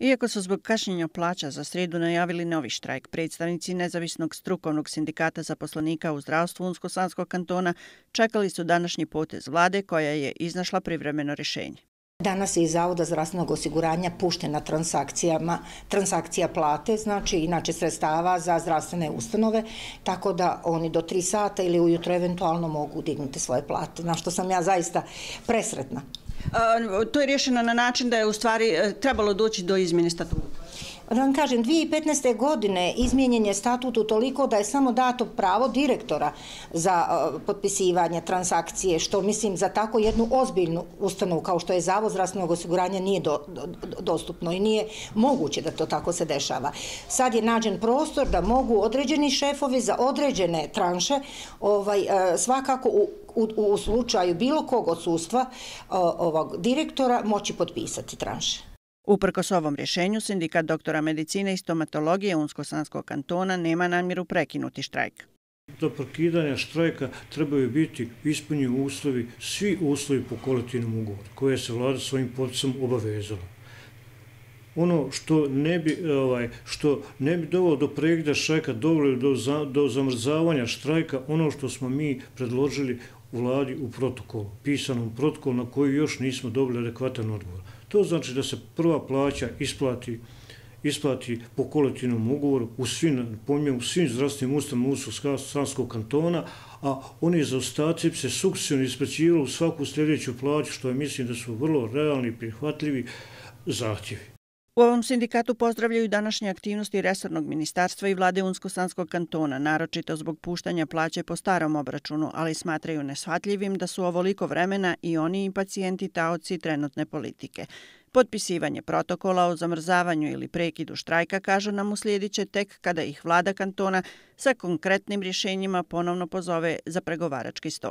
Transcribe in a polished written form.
Iako su zbog kašnjenja plaća za srijedu najavili novi štrajk, predstavnici Nezavisnog strukovnog sindikata zaposlenika u zdravstvu Unsko-Sanskog kantona čekali su današnji potez vlade koja je iznašla privremeno rješenje. Danas je iz Zavoda zdravstvenog osiguranja puštena transakcija plate, znači inače sredstava za zdravstvene ustanove, tako da oni do 3 sata ili ujutro eventualno mogu dignuti svoje plate, na što sam ja zaista presretna. To je rješeno na način da je u stvari trebalo doći do izmjene statuta. Da vam kažem, 2015. godine izmijenjen je statut utoliko da je samo dato pravo direktora za potpisivanje transakcije, što mislim za tako jednu ozbiljnu ustanovu kao što je Zavod zdravstvenog osiguranja nije dostupno i nije moguće da to tako se dešava. Sad je nađen prostor da mogu određeni šefovi za određene tranše svakako u slučaju bilo kog odsustva ovog direktora moći potpisati tranše. Uprkos ovom rješenju, sindikat doktora medicine i stomatologije Unsko-Sanskog kantona nema namjeru prekinuti štrajk. Do prekidanja štrajka trebaju biti ispunjeni uslovi, svi uslovi po kolektivnom ugovoru koje se vlada svojim potpisom obavezala. Ono što ne bi dovelo do prekida štrajka, dovelo do zamrzavanja štrajka, ono što smo mi predložili u vladi u protokolu, pisanom protokolu na koji još nismo dobili adekvatan odgovor. To znači da se prva plaća isplati po kolektivnom ugovoru u svim zdravstvenim ustanovama Unsko-Sanskog kantona, a oni zaostaci se sukcesivno isplaćivali u svaku sljedeću plaću, što mislim da su vrlo realni i prihvatljivi zahtjevi. U ovom sindikatu pozdravljaju današnje aktivnosti resornog ministarstva i vlade Unsko-Sanskog kantona, naročito zbog puštanja plaće po starom obračunu, ali smatraju neshvatljivim da su ovoliko vremena i oni i pacijenti taoci trenutne politike. Potpisivanje protokola o zamrzavanju ili prekidu štrajka, kažu nam, uslijedit će tek kada ih vlada kantona sa konkretnim rješenjima ponovno pozove za pregovarački sto.